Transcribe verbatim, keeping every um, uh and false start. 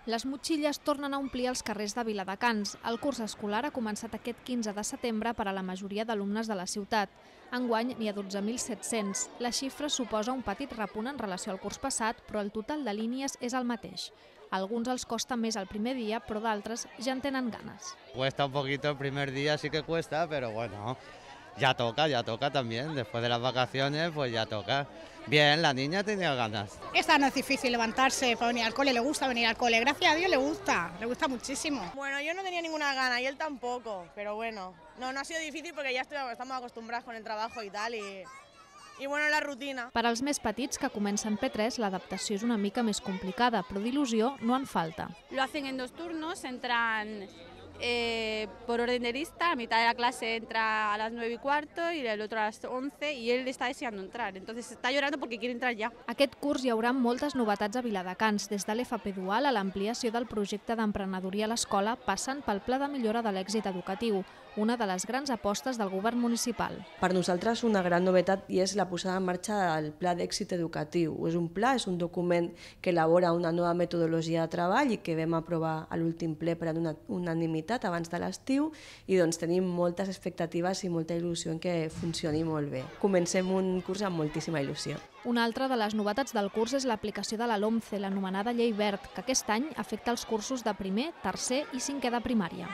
Les motxilles tornen a omplir els carrers de Viladecans. El curs escolar ha començat aquest quinze de setembre per a la majoria d'alumnes de la ciutat. Enguany n'hi ha dotze mil set-cents. La xifra suposa un petit repunt en relació al curs passat, però el total de línies és el mateix. A alguns els costa més el primer dia, però d'altres ja en tenen ganes. Cuesta un poquito el primer día, sí que cuesta, pero bueno, ya toca, ya toca también. Después de las vacaciones, pues ya toca. Bien, la niña tenía ganas. Esta no es difícil levantarse para venir al cole, le gusta venir al cole. Gracias a Dios le gusta, le gusta muchísimo. Bueno, yo no tenía ninguna gana y él tampoco, pero bueno, no, no ha sido difícil porque ya estoy, estamos acostumbrados con el trabajo y tal y... I bueno, la rutina. Per als més petits que comencen P tres, l'adaptació és una mica més complicada, però d'il·lusió no en falta. Lo hacen en dos turnos, entran eh, por orden de lista, a mitad de la clase entra a las nueve y cuarto y el otro a las once y él está deseando entrar, entonces está llorando porque quiere entrar ya. Aquest curs hi haurà moltes novetats a Viladecans, des de l'F P dual a l'ampliació del projecte d'emprenedoria a l'escola, passant pel pla de millora de l'èxit educatiu, una de les grans apostes del govern municipal. Per nosaltres una gran novetat i és la posada en marxa del Pla d'Èxit Educatiu. És un pla, és un document que elabora una nova metodologia de treball i que vam aprovar a l'últim ple per una unanimitat abans de l'estiu i doncs tenim moltes expectatives i molta il·lusió en que funcioni molt bé. Comencem un curs amb moltíssima il·lusió. Una altra de les novetats del curs és l'aplicació de la LOMCE, l'anomenada Llei Wert, que aquest any afecta els cursos de primer, tercer i cinquè de primària.